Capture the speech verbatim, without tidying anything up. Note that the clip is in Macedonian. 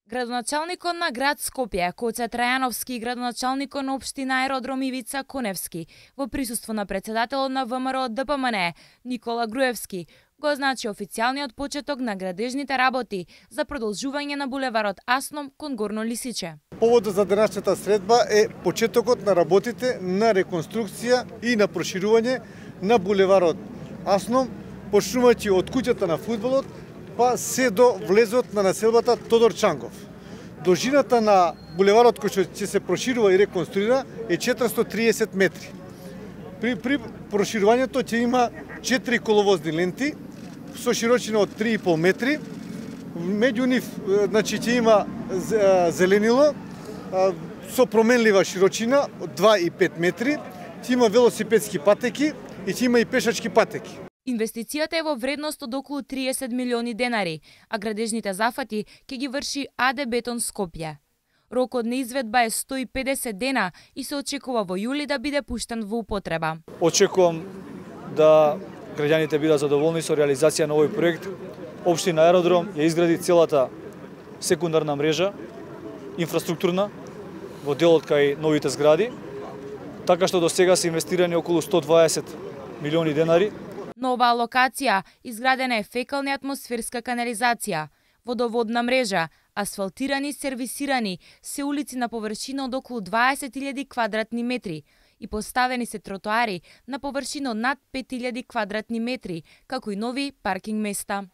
Градоначалникот на град Скопје, Коце Трајановски и градоначалникот на општина Аеродром Ивица Коневски, во присуство на председателот на ВМРО Д П М Н, Никола Груевски, го означи официјалниот почеток на градежните работи за продолжување на булеварот Асном кон Горно Лисиче. Поводот за денешната средба е почетокот на работите на реконструкција и на проширување на булеварот Асном, почнувајќи од куќата на фудбалот, па се до влезот на населбата Тодор Чангов. Должината на булеварот кој ќе се проширува и реконструира е четиристотини и триесет метри. При, при проширувањето ќе има четири коловозни ленти со широчина од три и пол метри. Меѓу нив значи ќе има зеленило со променлива широчина од два и пет метри, ќе има велосипедски патеки и ќе има и пешачки патеки. Инвестицијата е во вредност од околу триесет милиони денари, а градежните зафати ќе ги врши А Д Бетон Скопје. Рокот на изведба е сто и педесет дена и се очекува во јули да биде пуштен во употреба. Очекувам да граѓаните бидат задоволни со реализација на овој проект. Општина Аеродром ја изгради целата секундарна мрежа, инфраструктурна, во делот кај новите згради, така што до сега се инвестирани околу сто и дваесет милиони денари. На оваа локација изградена е фекална и атмосферска канализација, водоводна мрежа, асфалтирани и сервисирани се улици на површина од околу дваесет илјади квадратни метри и поставени се тротоари на површина од над пет илјади квадратни метри, како и нови паркинг места.